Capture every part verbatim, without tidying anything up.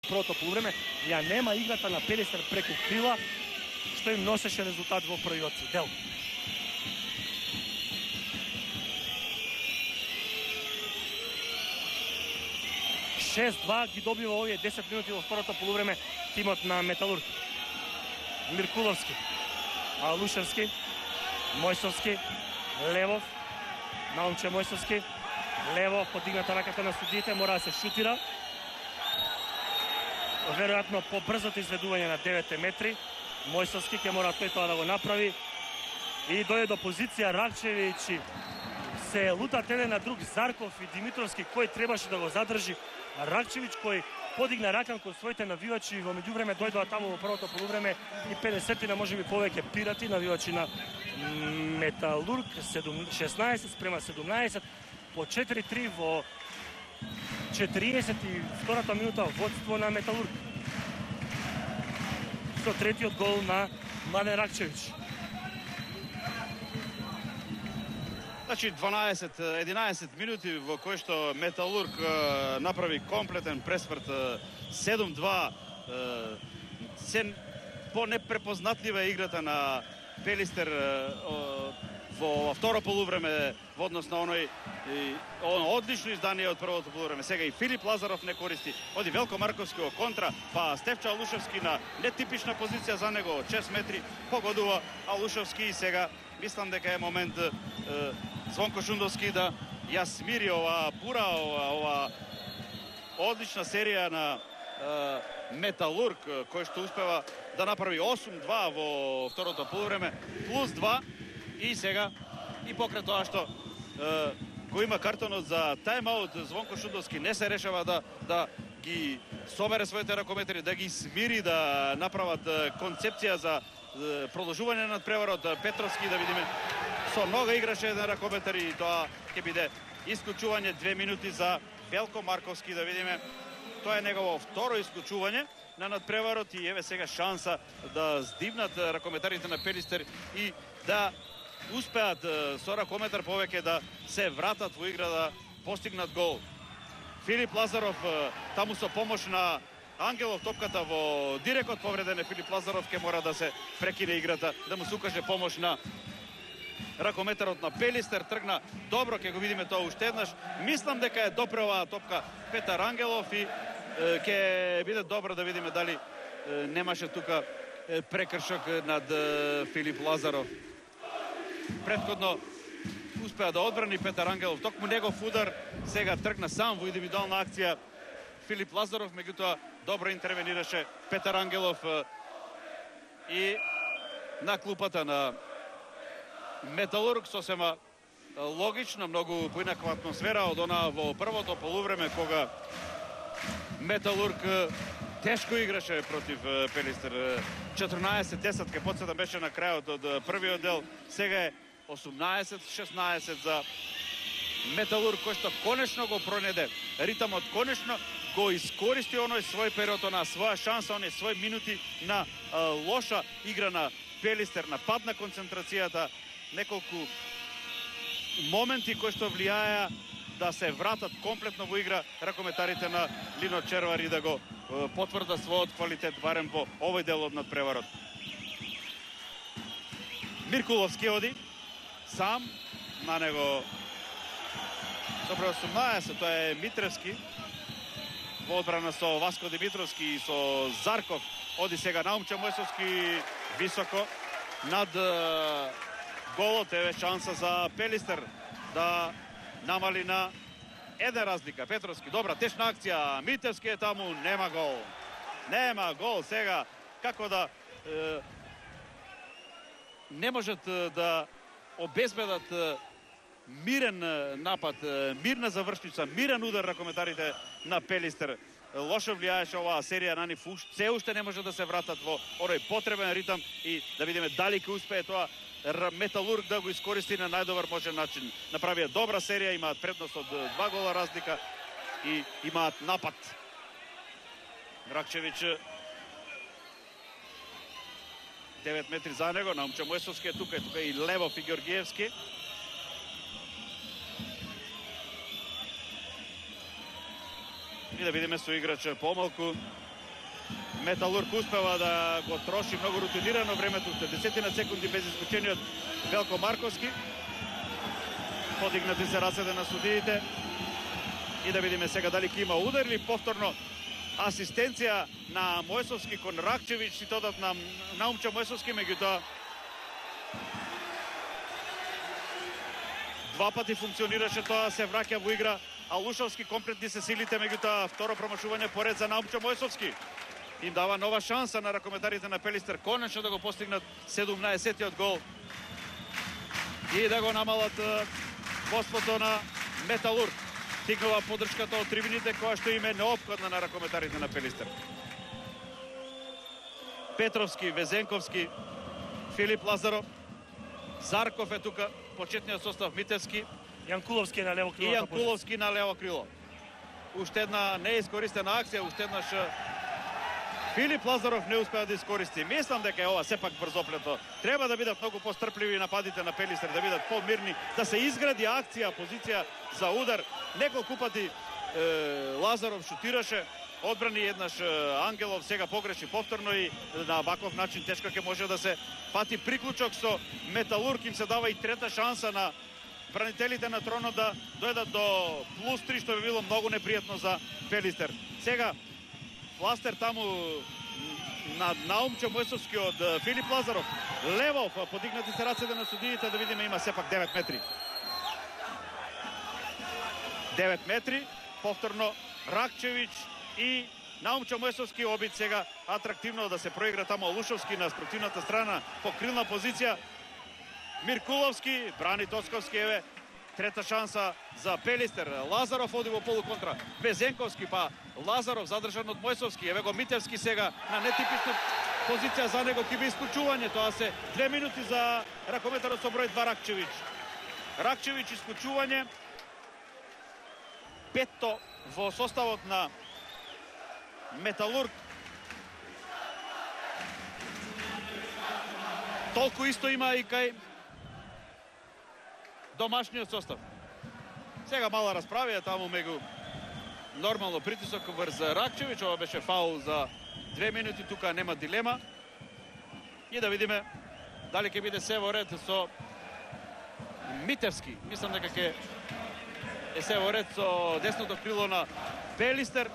првото полувреме, ја нема играта на Пелистер преку крила, што им носеше резултат во првиот дел. шест два ги добива овие десет минути во второто полувреме тимот на Металург. Миркуловски, Алушевски, Мојсовски, Левов, Наумче Мојсовски, Левов подигната раката на судиите, мора да се шутира. Веројатно по брзото изведување на девет метри. Мојсовски ќе мора тој тоа да го направи. И дојде до позиција Ракчевиќ. Се лутат еден на друг Зарков и Димитровски, кој требаше да го задржи. Ракчевиќ кој подигна рака кон своите навивачи и во меѓувреме дојдоа таму во првото полувреме и педесет на можеби повеќе пирати навивачи на Металург. шеснаесет спрема седумнаесет по четири три во четириесет и втората минута водство на Металург. Со третиот гол на Младен Ракчевиќ. Значи дванаесет единаесет минути во кои што Металург е, направи комплетен пресврт, седум два. Е, се по-непрепознатлива играта на Пелистер е, во второ полувреме во однос на оној и, оно одлично издание од првото полувреме. Сега и Филип Лазаров не користи. Оди Велко Марковски во контра, па Стефчо Алушевски на нетипична позиција за него од шест метри погодува Алушевски и сега мислам дека е момент е, Звонко Шундовски да ја смири ова бура, ова, ова одлична серија на е, Металург, кој што успева да направи осум два во второто полувреме, плюс два и сега и покрај тоа што е, го има картонот за тајмаут, Звонко Шундовски не се решава да, да ги собере своите ракометри, да ги смири, да направат е, концепција за е, продолжување на надпреварот. Петровски, да видиме, со нога играше еден ракометар и тоа ќе биде исклучување две минути за Велко Марковски, да видиме. Тоа е негово второ исклучување на надпреварот и еве сега шанса да здивнат ракометарите на Пелистер и да успеат со ракометар повеќе да се вратат во игра, да постигнат гол. Филип Лазаров таму со помош на Ангелов, топката во дирекот, повреден е Филип Лазаров, ќе мора да се прекине играта, да му се укаже помош на ракометарот на Пелистер. Тргна добро, ќе го видиме тоа уште еднаш. Мислам дека е допре оваа топка Петар Ангелов и е, ќе биде добро да видиме дали е, немаше тука е, прекршок над е, Филип Лазаров. Претходно успеа да одбрани Петар Ангелов, токму негов удар, сега тргна сам во индивидуална акција Филип Лазаров, меѓутоа добро интервенираше Петар Ангелов и на клупата на Металург сосема логично, многу поинаква атмосфера од она во првото полувреме, кога Металург тешко играше против Пелистер. четрнаесет десет, ке подсетам, беше на крајот од првиот дел. Сега е осумнаесет шеснаесет за Металург, кој што конечно го пронеде ритамот, конечно го искористи оној свој период, на своја шанса, оние свој минути на а, лоша игра на Пелистер, на пад на концентрацијата, неколку моменти кои што влијаја да се вратат комплетно во игра ракометарите на Лино Червар и да го е, потврда својот квалитет барем во овој дел од надпреварот. Миркуловски оди сам, на него добро осумнаесет, тоа е Митревски во одбрана со Васко Димитровски и со Зарков. Оди сега Наумче Мојсовски високо над е, голот. Еве шанса за Пелистер да намали на еден разлика. Петровски, добра, тешна акција. Митевски е таму, нема гол. Нема гол сега. Како да е, не можат е, да обезбедат е, мирен е, напад, е, мирна завршница, мирен удар ракометарите на Пелистер. Лошо влијаеше оваа серија на нив, се уште не може да се вратат во оној потребен ритам и да видиме дали ќе успее тоа Металург да го искористи на најдобар можен начин. Направија добра серија, имаат предност од два гола разлика и имаат напад. Ракчевиќ девет метри за него, Наумче Мојсовски е тука, е тука и Левов и Георгиевски. И да видиме со играч помалку Металург успева да го троши многу рутинирано времето, десетина секунди без исклучениот Велко Марковски. Подигнати се рацете на судиите. И да видиме сега дали ќе има удар или повторно асистенција на Мојсовски кон Ракчевич, си додат на Наумчо Мојсовски, меѓутоа два пати функционираше тоа, се враќа во игра, а Лушовски комплетни се силите, меѓутоа второ промашување поред за Наумчо Мојсовски. Им дава нова шанса на ракометарите на Пелистер, конечно да го постигнат седумнаесеттиот гол и да го намалат водството на Металург. Стигнува поддршката од трибините, која што им е неопходна на ракометарите на Пелистер. Петровски, Везенковски, Филип Лазаров, Зарков е тука, почетниот состав Митевски. Јанкуловски на лево крило. И Јанкуловски на лево крило. Уште една неискористена акција, уште еднаш Филип Лазаров не успеа да искористи. Мислам дека е ова сепак брзоплето. Треба да бидат многу пострпливи нападите на Пелистер, да бидат помирни, да се изгради акција, позиција за удар. Неколку пати е, Лазаров шутираше, одбрани еднаш Ангелов, сега погреши повторно и на ваков начин тешко ќе може да се фати приклучок со Металург. Им се дава и трета шанса на бранителите на тронот да дојдат до плюс три, што би било многу непријатно за Пелистер. Сега Фластер таму на Наумчо Мојсовски од Филип Лазаров. Левов, подигнати се рацете на судиите, да видиме, има сепак девет метри. девет метри, повторно Ракчевич и Наумчо Мојсовски обид сега атрактивно да се проигра тамо Лушовски на спротивната страна по крилна позиција. Миркуловски, брани Тоцковски, еве трета шанса за Пелистер. Лазаров оди во полуконтра. Везенковски, па Лазаров задржан од Мојсовски. Еве го Митевски сега на нетипична позиција за него, ќе би исклучување. Тоа се две минути за ракометарот со број два Ракчевич. Ракчевич исклучување. Петто во составот на Металург. Толку исто има и кај домашниот состав. Сега мала расправија таму мегу нормално притисок врз Ракчевич. Ова беше фаул за две минути, тука нема дилема. И да видиме дали ќе биде се во ред со Митевски. Мислам дека ќе е се во ред со десното крило на Пелистер.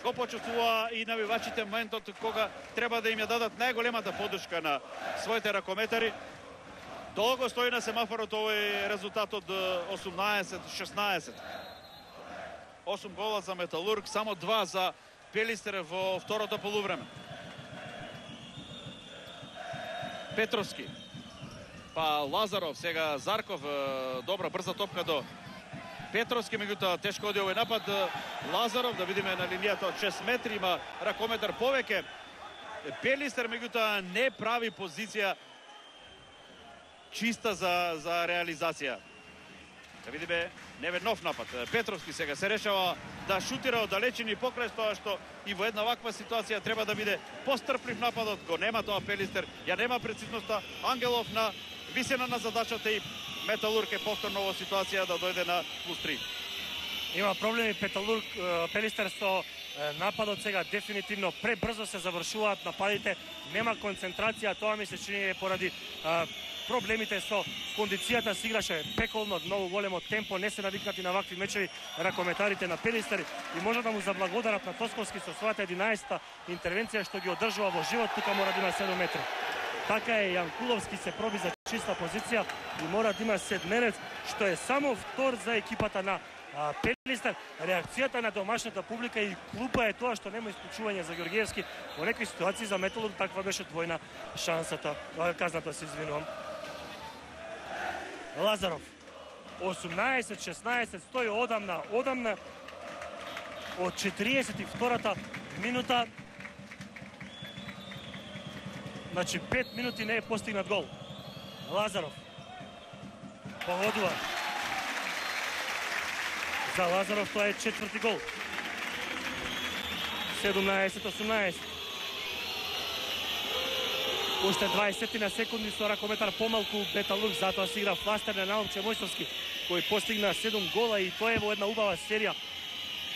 Го почувствува и навивачите моментот кога треба да им ја дадат најголемата поддршка на своите ракометари. Долго стои на семафорот овој резултатот осумнаесет шеснаесет. осум гола за Металург, само два за Пелистер во второто полувреме. Петровски, па Лазаров, сега Зарков, добра брза топка до Петровски, меѓутоа тешко оди овој напад. Лазаров, да видиме на линијата од шест метри, има ракометар повеќе. Пелистер, меѓутоа не прави позиција чиста за, за реализација. Да видиме неве нов напад. Петровски сега се решава да шутира од далечини покрај тоа што и во една ваква ситуација треба да биде пострплив нападот. Го нема тоа Пелистер, ја нема прецизноста. Ангелов на висина на задачата и Металург е повторно во ситуација да дојде на плюс три. Има проблеми Петалург, Пелистер со нападот сега дефинитивно пребрзо се завршуваат нападите, нема концентрација, тоа ми се чини поради а, проблемите со кондицијата, се играше пеколно, многу големо темпо, не се навикнати на вакви мечеви ракометарите на Пелистер и може да му заблагодарат на Тосковски со својата единаесета интервенција што ги одржува во живот, тука мора да има седум метри. Така е, Јанкуловски се проби за чиста позиција и мора да има седмерец, што е само втор за екипата на а, Пелистер. Реакцијата на домашната публика и клуба е тоа што нема исклучување за Ѓорѓиевски. Во некои ситуации за Металург таква беше двојна шансата. Казната се извинувам. Лазаров. осумнаесет шеснаесет стои одамна, одамна од четириесет и втората минута. Значи пет минути не е постигнат гол. Лазаров погодува. За Лазаров тоа е четврти гол. седумнаесет осумнаесет. Уште дваесет на секунди со ракометар помалку Металург, затоа се игра Фластер на Наумчо Мојсовски, кој постигна седум гола и тоа е во една убава серија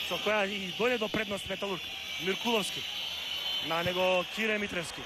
со која и дојде до предност Металург. Миркуловски. на него Кире Митревски.